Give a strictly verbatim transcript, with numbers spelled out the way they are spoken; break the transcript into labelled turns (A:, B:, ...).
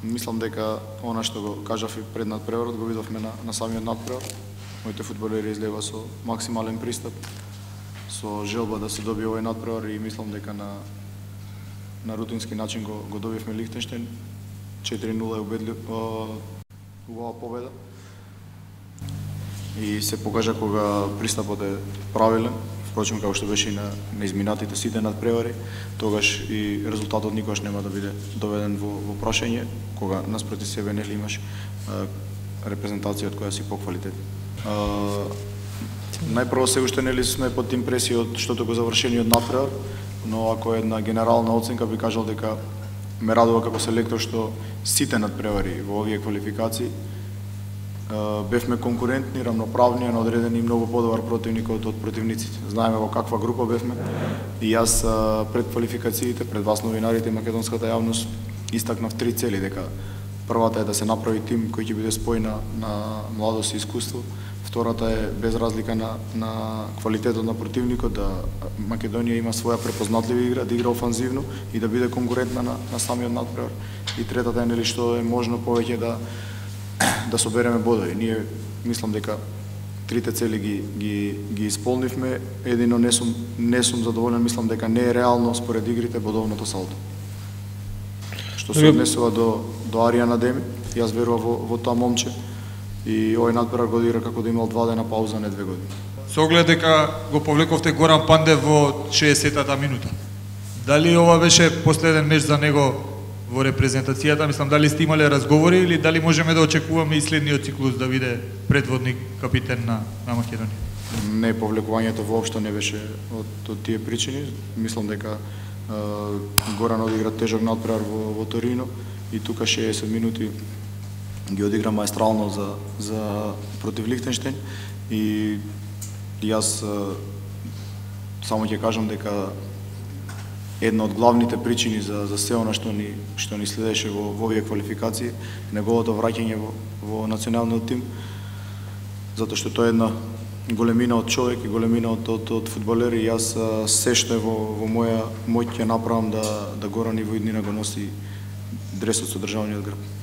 A: Мислам дека она што го кажав и пред надпреварот го видовме на, на самиот надпревар. Моите фудбалери излега со максимален пристап, со желба да се добие овој надпревар и мислам дека на на рутински начин го, го добивме Лихтенштейн. четири нула е убедливо убава победа. И се покажа кога пристапот е правилен. Впрочем, како што беше и на, на изминатите сите надпревари, тогаш и резултатот никогаш нема да биде доведен во, во прашање, кога наспроти себе нели имаш а, репрезентација од која си поквалитет. Најпрво се уште нели сме под импресија од штото го завршениот надпревар, но ако една генерална оценка би кажал дека ме радува како селектор што сите надпревари во овие квалификации бевме конкурентни, рамноправни, на одредени многу подобар противник од, од противниците. Знаеме во каква група бевме и јас пред квалификациите, пред вас новинарите и македонската јавност истакнав три цели, дека првата е да се направи тим кој ќе биде спој на, на младост и искуство. Втората е без разлика на, на квалитетот на противникот, да Македонија има своја препознатлива игра, да игра офанзивно и да биде конкурентна на, на самиот надпревар. И третата е нели што е можно повеќе да да собереме бодови. Ние мислам дека трите цели ги ги ги исполнивме. Едино не сум не сум задоволен, мислам дека не е реално според игрите бодовното салдо. Што се однесува до до Аријан Адеми, јас верувам во, во тоа момче и овој надпревар го одигра како да имал два дена пауза, не две години.
B: Со оглед дека го повлековте Горан Пандев во шеесеттата минута. Дали ова беше последен меч за него во репрезентацијата? Мислам, дали сте имале разговори или дали можеме да очекуваме и следниот циклус да биде предводник капитен на, на Македонија?
A: Не, повлекувањето воопшто не беше од, од тие причини. Мислам дека е, Горан одигра тежок надпревар во, во Торино и тука шеесет минути ги одигра маестрално за, за против Лихтенштейн и јас е, само ќе кажам дека една од главните причини за за се она што ни што ни следеше во, во овие квалификации, неговото враќање во, во националниот тим, затоа што тоа е една големина од човек и големина од од, од фудбалери. Јас се што е во во моја моќ ќе направам да да Горан и во иднина го носи дресот со државниот грб.